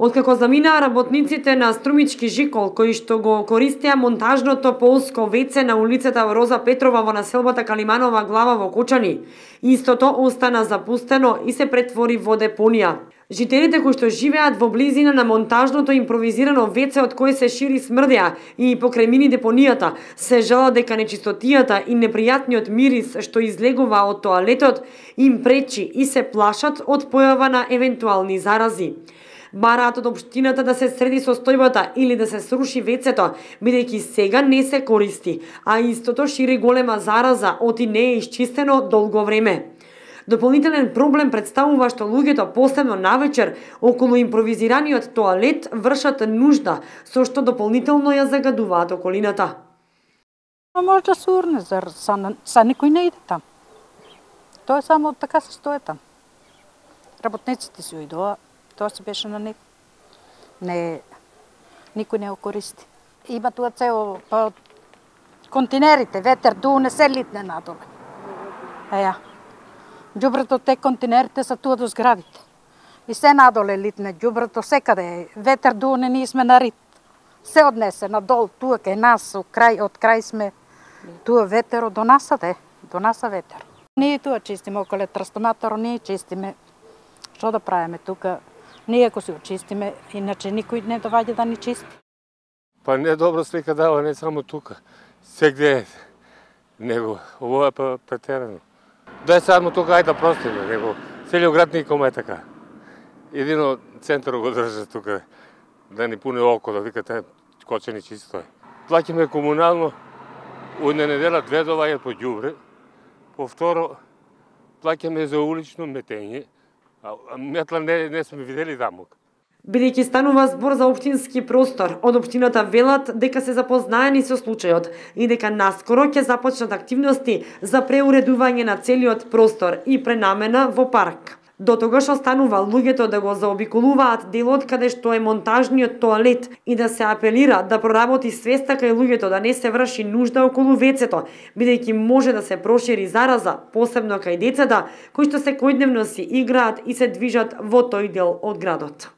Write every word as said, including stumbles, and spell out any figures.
Откако заминаа работниците на Струмички Жикол, кои што го користеа монтажното полско веце на улицата Роза Петрова во населбата Калиманова глава во Кочани, истото остана запустено и се претвори во депонија. Жителите кои што живеат во близина на монтажното импровизирано веце од кое се шири смрдеа и покрај мини депонијата, се жала дека нечистотијата и непријатниот мирис што излегува од тоалетот им пречи и се плашат од појава на евентуални зарази. Бараат од општината да се среди состојбата или да се сруши вецето, бидејќи сега не се користи, а истото шири голема зараза од и не е исчистено долго време. Дополнителен проблем представува што луѓето посебно навечер околу импровизираниот тоалет вршат нужда, со што дополнително ја загадуваат околината. Може да се урне, зар са, са никој не иде там. Тоа е само така се стои там. Работниците си уидоа, тоа си беше на них. Не, никој не го користи. Има тоа цел па, континерите, ветер дуне се литне надоле. Еја. Ѓубрето те континерите са туа до зградите. И се надоле литне ѓубрето секаде. Ветер дуне, ние сме на рит. Се однесе надол, туа кај нас, од крај, од крај сме. Туа ветеро до насаде, до наса ветер. Ние туа чистиме околе трансформаторо, ние чистиме. Што да правиме тука? Ние ако се очистиме, иначе никој не доваѓа да ни чисти. Па не добро слика дава, не само тука. Сегде е. Него, ово е па претерано. Да е само тука, ајде да простиме, него целиот град никома е така. Едино центарот го држа тука, да ни пуне око, да викате Кочани чисто е. Плаќаме комунално, една недела две доваѓаат по ѓубре, повторо плаќаме за улично метење, а метла не, не сме видели таму. Бидејќи станува збор за општински простор, од општината велат дека се запознаени со случајот и дека наскоро ќе започнат активности за преуредување на целиот простор и пренамена во парк. До тогаш останува луѓето да го заобиколуваат делот каде што е монтажниот тоалет и да се апелира да проработи свеста кај луѓето да не се врши нужда околу вецето, бидејќи може да се прошири зараза, посебно кај децата, кои што секојдневно си играат и се движат во тој дел од градот.